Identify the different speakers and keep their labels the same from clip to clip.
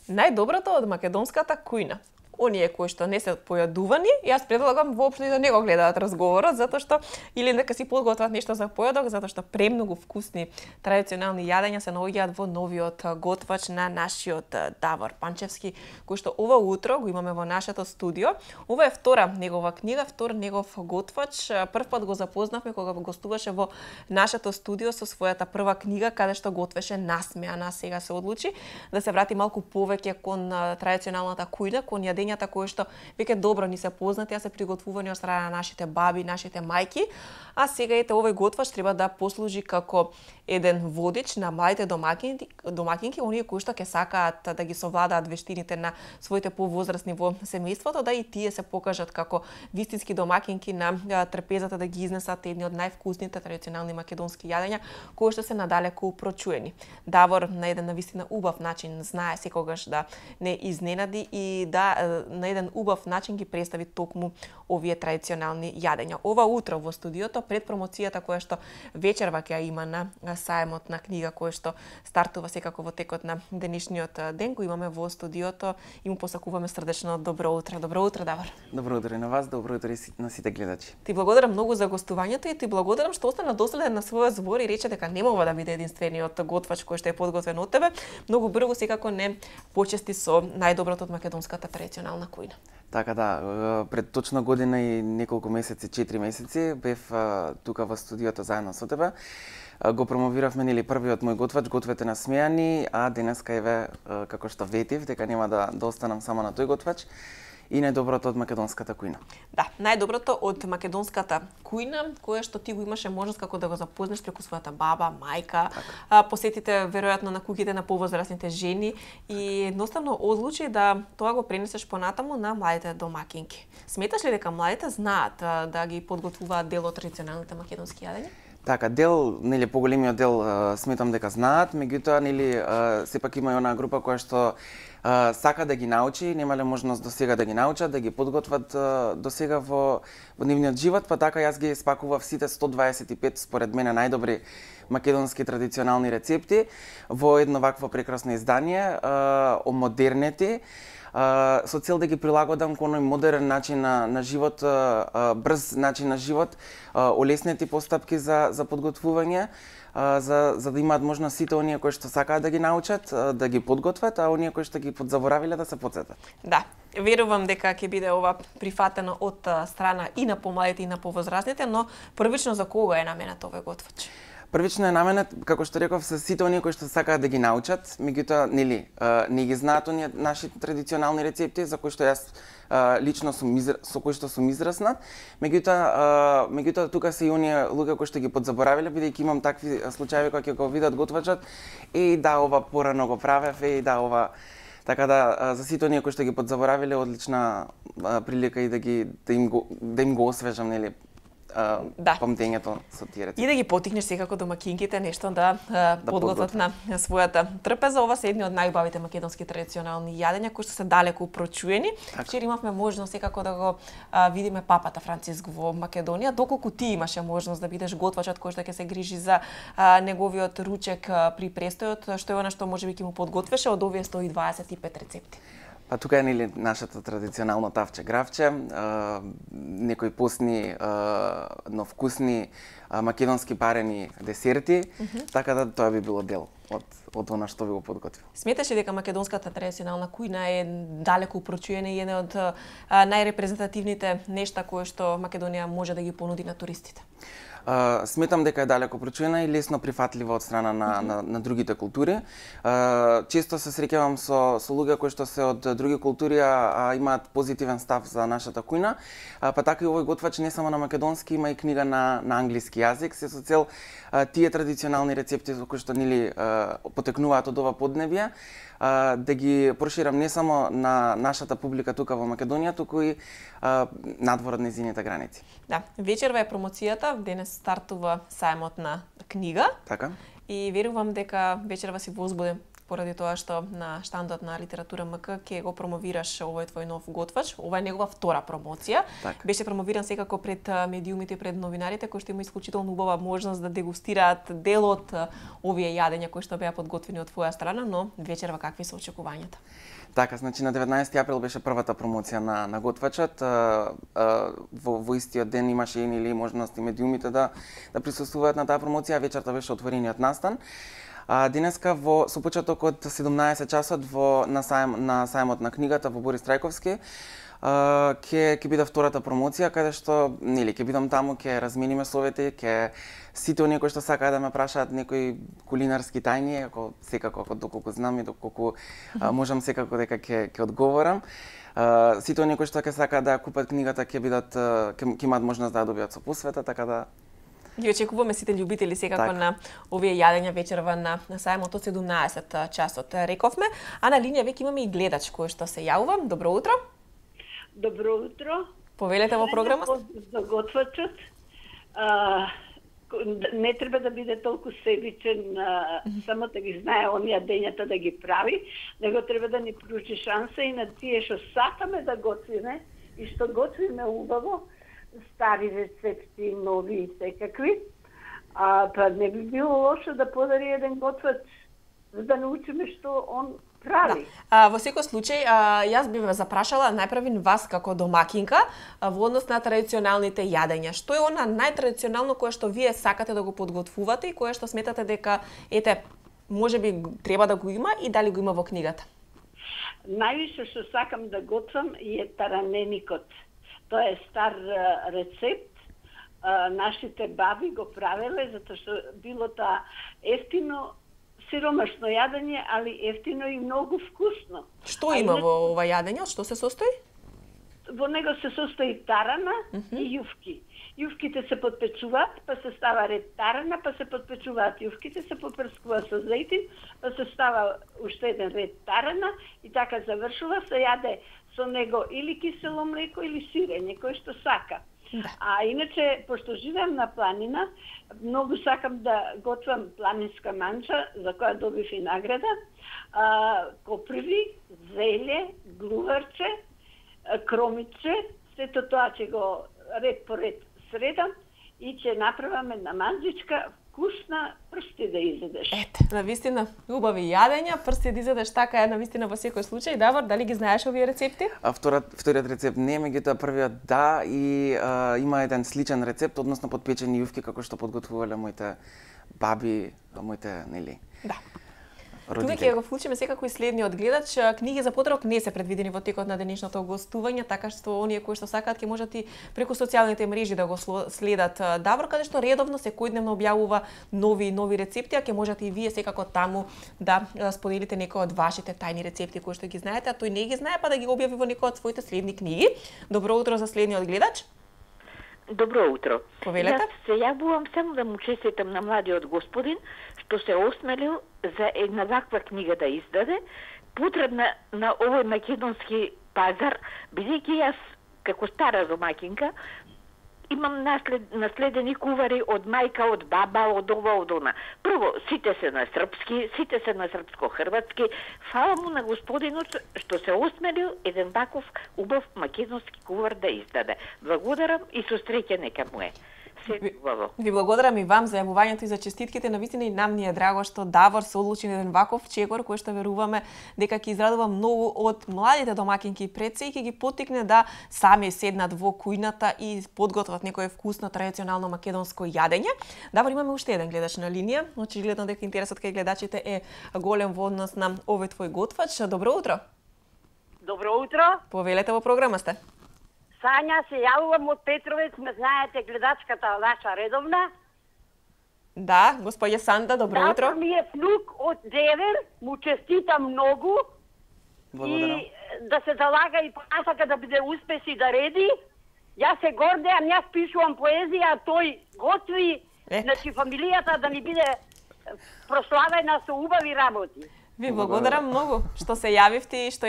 Speaker 1: Најдоброто од македонската кујна. Оние кои што не се појадувани, јас предлагам воопшто да не го гледаат разговорот, затоа што или нека си подготват нешто за појадок, затоа што премногу вкусни традиционални јадења се наоѓаат во новиот готвач на нашиот Давор Панчевски, кој што ова утро го имаме во нашето студио. Ова е втора негова книга, втор негов готвач. Прв пат го запознавме кога гостуваше во нашето студио со својата прва книга, каде што готвеше насмеана. Сега се одлучи да се врати малку повеќе кон традиционалната кујна, кон јадењата кои што веќе добро ни се познати, а се приготвувани од страна на нашите баби, нашите мајки, а сега ете овој готвач треба да послужи како еден водич на младите домакинки, оние кои што ќе сакаат да ги совладаат вештините на своите повозрасни во семејството, да и тие се покажат како вистински домакинки на трпезата да ги изнесат едни од највкусните традиционални македонски јадења кои што се надалеку прочуени. Давор на еден навистина убав начин знае секогаш да не изненади и да на еден убав начин ги представи токму овие традиционални јадења. Ова утро во студиото пред промоцијата која што вечерва ќе има на саемот на книга кој што стартува секако во текот на денешниот ден, го имаме во студиото и му посакуваме срдечно добро утро. Добро утро, Давор.
Speaker 2: Добро утро и на вас, добро утро и на сите гледачи.
Speaker 1: Ти благодарам многу за гостувањето и ти благодарам што остана доследен на својот збор и рече дека нема ова да биде единствениот готвач кој што е подготвен од тебе. Многу брзо секако не почести со најдоброто од македонската традиционална кујна.
Speaker 2: Така да, пред точно година и неколку месеци, 4 месеци, бев тука во студиото заедно со тебе. Го промовиравме нели првиот мој готвач, гответе насмеани, а денеска еве како што ветив дека нема да останам само на тој готвач и најдоброто од македонската кујна.
Speaker 1: Да, најдоброто од македонската кујна, кое што ти го имаше можност како да го запознаш преку својата баба, мајка, посетите веројатно на куќите на повозрасните жени и едноставно одлучи да тоа го пренесеш понатаму на младите домакинки. Сметаш ли дека младите знаат да ги подготвуваат дел од традиционалните македонски јадења?
Speaker 2: Така, дел, нели поголемиот дел сметам дека знаат, меѓутоа нели сепак има и онаа група која што сака да ги научи, немале можност до сега да ги научат, да ги подготват до сега во нивниот живот, па така јас ги спакував сите 125 според мене најдобри македонски традиционални рецепти во едно вакво прекрасно издание, омодернети, со цел да ги прилагодам кон оној модерен начин на живот, брз начин на живот, олеснети постапки за подготвување, за да имаат можност сите оние кои што сакаат да ги научат, да ги подготват, а оние кои што ги подзаборавиле да се потсетат.
Speaker 1: Да, верувам дека ќе биде ова прифатено од страна и на помладите и на повозрастните, но првично за кого е наменет овој готвач?
Speaker 2: Првично е наменет, како што реков, се сите оние кои што сакаат да ги научат, меѓутоа нели не ги знаат оние наши традиционални рецепти за кои што јас лично со кои што сум израснат, меѓутоа тука се и оние луѓе кои што ги подзаборавиле, бидејќи имам такви случаи кога ќе го видат готвачот и да ова порано го правев и да ова. Така да за сите оние кои што ги подзаборавиле одлична прилика и да им го освежам нели памтењето со тие рецепти.
Speaker 1: И да ги потикнеш секако домакинките нешто да подготват на својата трпеза. Ова се едни од најубавите македонски традиционални јадења кои што се далеку прочуени. Вчера имавме можност секако да го видиме папата Франциск во Македонија. Доколку ти имаше можност да бидеш готвачот кој што ќе се грижи за неговиот ручек при престојот, што е она што можеби ќе му подготвеше од овие 125 рецепти?
Speaker 2: Па тука е нели нашето традиционално тавче гравче, некои постни, но вкусни македонски парени десерти, така да тоа би било дел од она што ви го подготвил.
Speaker 1: Сметаш ли дека македонската традиционална кујна е далеку прочуена и една од најрепрезентативните нешта кои што Македонија може да ги понуди на туристите?
Speaker 2: Сметам дека е далеко прочуена и лесно прифатлива од страна на другите култури. Често се среќавам со луѓе кои што се од други култури, имаат позитивен став за нашата кујна. Па така и овој готвач не само на македонски, има и книга на англиски јазик, се со цел тие традиционални рецепти кои што нели потекнуваат од ова поднебје, да ги проширам не само на нашата публика тука во Македонија, туку и надвор од нејзините граници.
Speaker 1: Да, вечерва е промоцијата, денес стартува саемот на книга.
Speaker 2: Така.
Speaker 1: И верувам дека вечерва си возбуден поради тоа што на штандот на Литература МК ќе го промовираш овој твој нов готвач. Ова е негова втора промоција.
Speaker 2: Так.
Speaker 1: Беше промовиран секако пред медиумите и пред новинарите кои што има исклучително убава можност да дегустираат дел од овие јадења кои што беа подготвени од твоја страна, но вечерва какви се очекувањата?
Speaker 2: Така, значи на 19 април беше првата промоција на готвачот. Во истиот ден имаше или можност и медиумите да присуствуваат на таа промоција, вечерта беше отворениот настан. Денеска со почеток од 17 часот на сајмот на книгата во Борис Трајковски ќе биде втората промоција каде што ќе бидам таму, ќе размениме совети, ќе сите оние кои што сакаат да ме прашаат некои кулинарски тајни, секако доколку знам и доколку можам секако дека ќе одговорам. Сите оние кои што ќе сакаат да купат книгата ќе имаат можност да ја добијат со посвета, така да
Speaker 1: Ги очекуваме сите љубители секако на овие јадења вечерва на сајмот од 17 часот. Рековме, а на линија веќе имаме и гледач кој што се јавува. Добро утро.
Speaker 3: Добро утро.
Speaker 1: Повелете во програмот.
Speaker 3: За готвачот. Не треба да биде толку себичен, само да ги знае оние дењата да ги прави, него треба да ни пружи шанса и на тие што сакаме да готвиме и што готвиме убаво, стари рецепти, нови и секакви. Па не би било лошо да подари еден готвач за да научиме што он прави.
Speaker 1: Да. Во секој случај, јас би ве запрашала најпрвин вас како домакинка во однос на традиционалните јадења. Што е она најтрадиционално кое што вие сакате да го подготвувате и кое што сметате дека можеби треба да го има и дали го има во книгата?
Speaker 3: Највише што сакам да готвам е тараненикот. Тоа е стар рецепт. Нашите баби го правеле затоа што било тоа ефтино, сиромашно јадење, али ефтино и многу вкусно.
Speaker 1: Што има во ова јадење? Од што се состои?
Speaker 3: Во него се состои тарана и јувки. Јувките се подпечуваат, па се става ред тарана, па се подпечуваат јувките, се попрскува со зејтин, па се става уште еден ред тарана и така завршува, се јаде со него или кисело млеко или сирење, кој што сака.
Speaker 1: Да.
Speaker 3: А иначе, пошто живеам на планина, многу сакам да готвам планинска манџа, за која добив и награда, коприви, зеле, глуварче, кромиче, сето тоа ќе го ред по ред средам и ќе направам една манџичка вкусна, прсти да изедеш.
Speaker 1: Ете, навистина убави јадења, прсти да изедеш, така е навистина во секој случај. Давор, дали ги знаеш овие рецепти?
Speaker 2: Вториот рецепт не, меѓутоа првиот да, и има еден сличен рецепт, односно подпечени јувки како што подготвувале моите баби, моите,
Speaker 1: Да.
Speaker 2: родители.
Speaker 1: Тука ќе го вклучиме секако и следниот гледач. Книги за потрок не се предвидени во текот на денешното гостување, така што оние кои што сакаат ќе можат и преку социјалните мрежи да го следат Давор, каде што редовно секојдневно објавува нови рецепти, а ќе можете и вие секако таму да споделите некои од вашите тајни рецепти кои што ги знаете, а тој не ги знае, па да ги објави во некој од своите следни книги. Добро утро за следниот гледач.
Speaker 4: Добро утро.
Speaker 1: Повелете.
Speaker 4: Јас се јавувам само да му честитам на младиот господин што се осмелил за една ваква книга да издаде, потребна на овој македонски пазар, бидејќи јас како стара домакинка имам наследени кувари од мајка, од баба, од ова, од она. Прво, сите се на српски, сите се на српско-хрватски. Фала му на господинот што се осмелил еден ваков убав македонски кувар да издаде. Благодарам и со среќа нека му е.
Speaker 1: Ви благодарам и вам за јавувањето и за честитките. Навистина и нам ни е драго што Давор се одлучи на еден ваков чекор кој што веруваме дека ќе израдува многу од младите домакинки пред се и ќе ги поттикне да сами седнат во кујната и подготват некое вкусно традиционално македонско јадење. Давор, имаме уште еден гледач на линија. Очигледно дека интересот кај гледачите е голем во однос на овој твој готвач. Добро утро.
Speaker 5: Добро утро.
Speaker 1: Повелете, во програма сте.
Speaker 5: Сања, се јавувам од Петровец, ме знаете гледачката наша редовна.
Speaker 1: Да, господја Санда, добро утро.
Speaker 5: Завтра ми е внук од Девер, му честитам многу.
Speaker 2: Благодарам.
Speaker 5: И да се залага и понасака да биде успеси да реди. Јас се гордеам, јас пишувам поезија, а тој готви, значи фамилијата да ни биде прославена со убави работи.
Speaker 1: Ви благодарам многу што се јавивте и што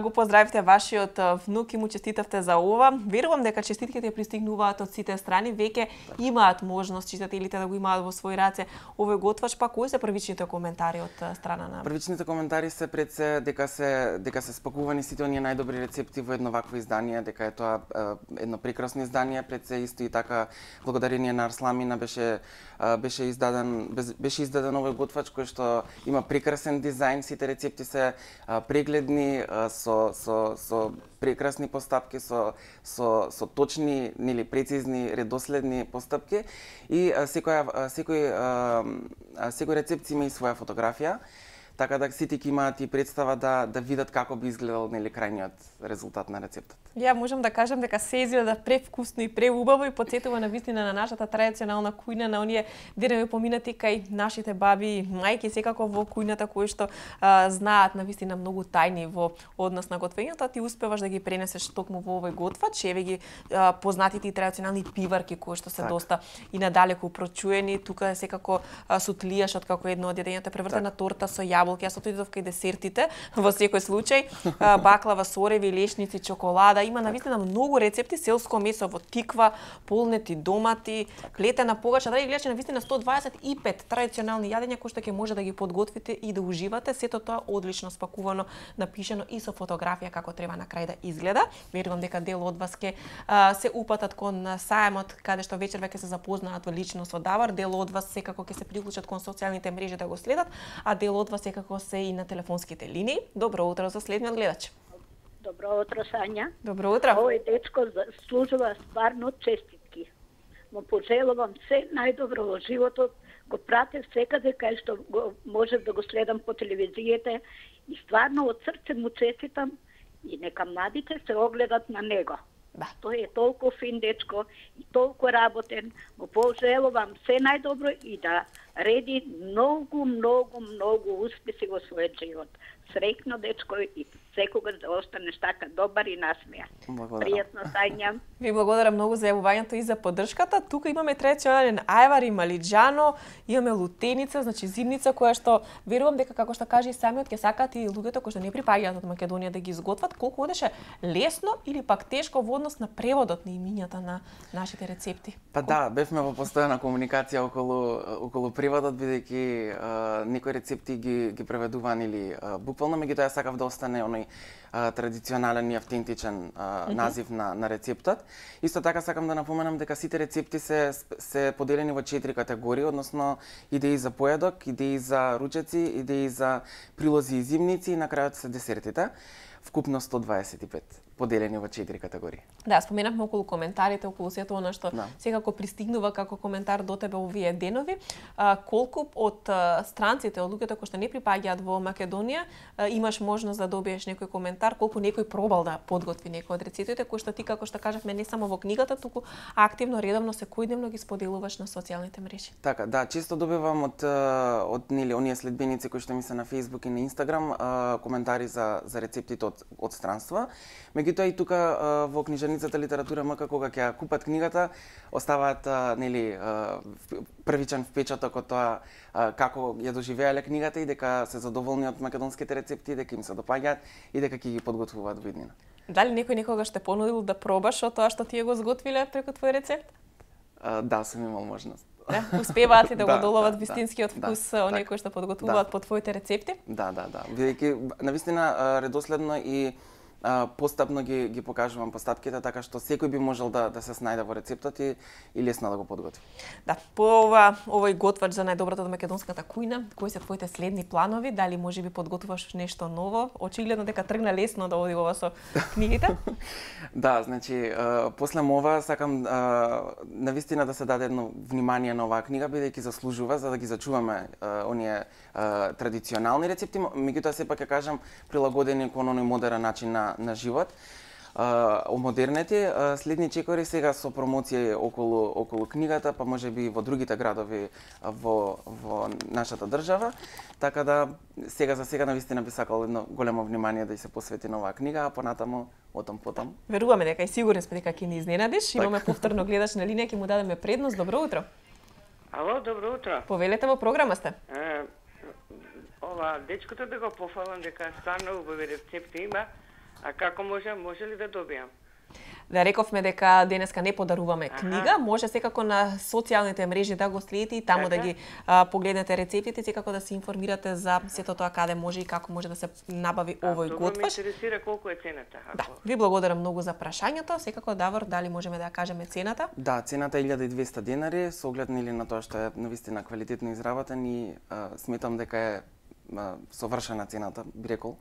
Speaker 1: го поздравивте вашиот внук и му честитавте за ова. Верувам дека честитките пристигнуваат од сите страни, веќе имаат можност читателите да го имаат во своји раце овој готвач, па кои се првичните коментари од страна на?
Speaker 2: Првичните коментари се пред се дека се спакувани сите оние најдобри рецепти во едно вакво издание, дека е тоа едно прекрасно издание, пред се исто и така благодарение на Арсламина беше издаден овој готвач кој што има прекрасен дизајн, сите рецепти се прегледни со прекрасни постапки, со точни, нели прецизни, редоследни постапки и секој рецепт има и своја фотографија. Така да сите ќе имаат и представа да видат како би изгледал нели крајниот резултат на рецептот.
Speaker 1: Ја можам да кажам дека се изгледа превкусно и преубаво и потсетува на вистина на нашата традиционална кујна, на оние денови поминати кај нашите баби и мајки, секако во кујната кои што знаат на вистина многу тајни во однос на готвењето, ти успеваш да ги пренесеш токму во овој готвач, еве ги познатите и традиционални пиварки кои што се доста и надалеку прочуени. Тука е секако сутлијашот како едно од јадењата, превртена торта со јаболки, јас отидов кај десертите, во секој случај, баклава, сореви, лешници, чоколада, има навистина многу рецепти, селско месо во тиква, полнети домати, плетена погача, дали гледачи навистина 125 традиционални јадења кои што ќе може да ги подготвите и да уживате, сето тоа одлично спакувано, напишано и со фотографија како треба на крај да изгледа. Верувам дека дел од вас ќе се упатат кон сајмот каде што вечерва ќе се запознаат лично со Давар, дел од вас секако ќе се приклучат кон социјалните мрежи да го следат, а дел од вас секако се и на телефонските линии. Добро утро за следниот гледач.
Speaker 3: Добро утро, Сања.
Speaker 1: Добро утро.
Speaker 3: Овој дечко заслужува стварно честитки. Му пожелувам се најдобро во животот. Го пратев секаде кај што можев да го следам по телевизијата и стварно од срце му честитам и нека младите се огледат на него.
Speaker 1: Да.
Speaker 3: Тој е толку фин дечко и толку работен. Му пожелувам се најдобро и да реди многу успеси во својот живот. Среќно дечко и секогаш да останеш така добар и насмејан. Пријатно, Сања.
Speaker 1: Ви благодарам многу за јавувањето и за поддршката. Тука имаме традиционален ајвар и малиџано, имаме лутеница, значи зимница која што верувам дека како што каже и самиот ќе сакаат и луѓето кои што не припаѓаат од Македонија да ги изготват, колку одеше лесно или пак тешко во однос на преводот на имињата на нашите рецепти.
Speaker 2: Па да, бевме во постојана комуникација околу преводот, бидејќи некои рецепти ги преведуван или буквално, меѓутоа сакав да остане оној традиционален и автентичен назив на рецептот. Исто така сакам да напоменам дека сите рецепти се поделени во 4 категории, односно идеи за појадок, идеи за ручеци, идеи за прилози и зимници и на крајот се десертите. Вкупно 125, поделени во 4 категории.
Speaker 1: Да, споменавме околу коментарите, околу сето она што секако пристигнува како коментар до тебе овие денови. Колку од странците, од луѓето кои што не припаѓаат во Македонија, имаш можност да добиеш некој коментар, колку некој пробал да подготви некој од рецептите кои што ти, како што кажавме, не само во книгата, туку активно, редовно, секојдневно ги споделуваш на социјалните мрежи.
Speaker 2: Така, да, често добивам од нели оние следбеници кои што ми се на Facebook и на Instagram коментари за рецептите од странства. Меѓутоа и тука во книжарницата Литература МК кога ќе купат книгата, оставаат нели првичен впечаток од тоа како ја доживеале книгата и дека се задоволни од македонските рецепти, дека им се допаѓаат и дека ќе ги подготвуваат во иднина.
Speaker 1: Дали некој некогаш те понудил да пробаш од тоа што тие го зготвиле преку твој рецепт?
Speaker 2: Да, сум имал можност.
Speaker 1: Да, успеваат ли да го доловат вистинскиот вкус оние кои што подготвуваат по твоите рецепти?
Speaker 2: Да. Бидејќи навистина редоследно и постапно ги покажувам постапките, така што секој би можел да се снајде во рецептот и лесно да го подготви.
Speaker 1: Да, по овој готвач за најдоброто од македонската кујна, кои се твоите следни планови? Дали можеби подготвуваш нешто ново? Очигледно дека тргна лесно да оди ова со книгите.
Speaker 2: Да, значи после ова сакам навистина да се даде едно внимание на оваа книга, бидејќи заслужува за да ги зачуваме оние традиционални рецепти, меѓутоа сепак ќе кажам прилагодени кон оној модерен начин на живот. Модерните следни чекори сега со промоција околу книгата, па можеби во другите градови во нашата држава. Така да сега навистина би сакал едно големо внимание да се посвети на оваа книга, а понатаму потом.
Speaker 1: Веруваме дека и сигурни сме дека ќе ни изненадиш. Имаме повторно гледач на линија, ќе му дадеме предност. Добро утро.
Speaker 6: Ало, добро утро.
Speaker 1: Повелете, во програма сте.
Speaker 6: Ова, дечкото да го пофалам дека стварно убави рецепти има, а како може ли да добијам?
Speaker 1: Да, рековме дека денеска не подаруваме книга, може секако на социјалните мрежи да го следите и таму да ги погледнете рецептите, секако да се информирате за сето тоа каде може и како може да се набави овој готвач.
Speaker 6: Ме интересира колку е цената.
Speaker 1: Да, ви благодарам многу за прашањето. Секако, Давор, дали можеме да ја кажеме цената?
Speaker 2: Да, цената е 1200 денари, со оглед на тоа што е навистина квалитетно изработен и сметам дека е совршена цената, би рекол.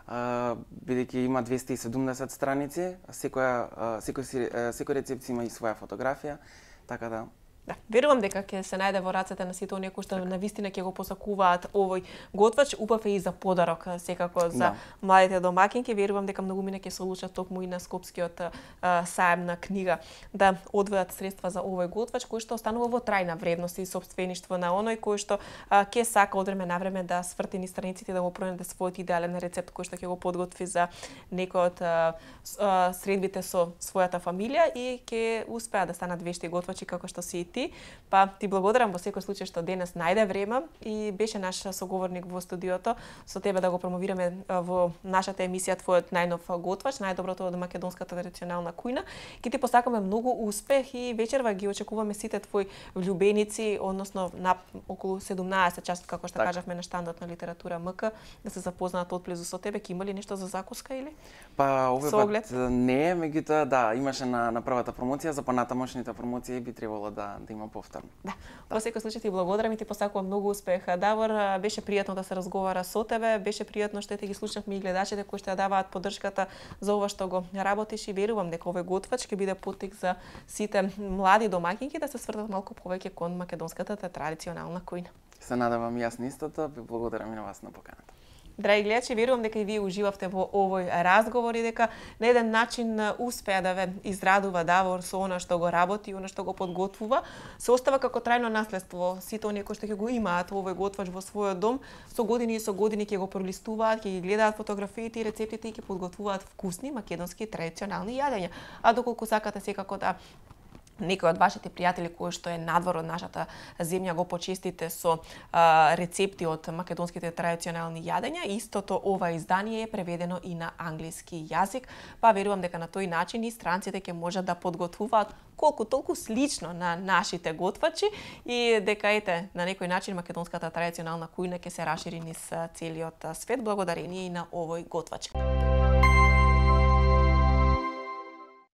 Speaker 2: Бидејќи има 270 страници, секој рецепт има и своја фотографија, така да.
Speaker 1: Да, верувам дека ќе се најде во рацете на сите оние кои што навистина ќе го посакуваат овој готвач, убав е и за подарок, секако за младите домакинки. Верувам дека многумина ќе се одлучат токму и на Скопскиот саем на книга да одвојат средства за овој готвач кој што останува во трајна вредност и сопствеништво на оној кој што ќе сака од време на време да сврти низ страниците да го пронајде својот идеален рецепт кој што ќе го подготви за некој од средбите со својата фамилија и ќе успеа да станат вешти готвачи како што си и ти. Па ти благодарам во секој случај што денес најде време и беше наш соговорник во студиото со тебе да го промовираме во нашата емисија твојот најнов готвач, најдоброто од македонската традиционална кујна. Ке ти посакаме многу успех и вечерва ги очекуваме сите твои влюбеници, односно на околу 17 часот како што кажавме на штандот на литература МК да се запознаат отблизу со тебе. Ке има ли нешто за закуска или?
Speaker 2: Па овој пат не, меѓутоа да, имаше на првата промоција, за понатамошните промоции би требало да има повторно.
Speaker 1: Да. Во секој случај ти благодарам и ти посакувам многу успех. Давор, беше пријатно да се разговара со тебе, беше пријатно што те ги слушнавме и гледачите кои што ја даваат поддршката за ова што го работиш и верувам дека овој готвач ќе биде поттик за сите млади домакинки да се свртат малку повеќе кон македонската традиционална кујна.
Speaker 2: Се надевам јас истото, ви благодарам и на вас на поканата.
Speaker 1: Драги гледачи, верувам дека и вие уживавте во овој разговор и дека на еден начин успеа да ве израдува Давор со она што го работи, она што го подготвува, се остава како трајно наследство. Сите оние кои што ќе го имаат овој готвач во својот дом, со години ќе го пролистуваат, ќе ги гледаат фотографиите и рецептите и ќе подготвуваат вкусни македонски традиционални јадења. А доколку сакате секако да некој од вашите пријатели кои што е надвор од нашата земја го почестите со рецепти од македонските традиционални јадења, истото ова издание е преведено и на англиски јазик, па верувам дека на тој начин и странците ќе можат да подготвуваат колку толку слично на нашите готвачи и дека ете на некој начин македонската традиционална кујна ќе се рашири низ целиот свет благодарение и на овој готвач.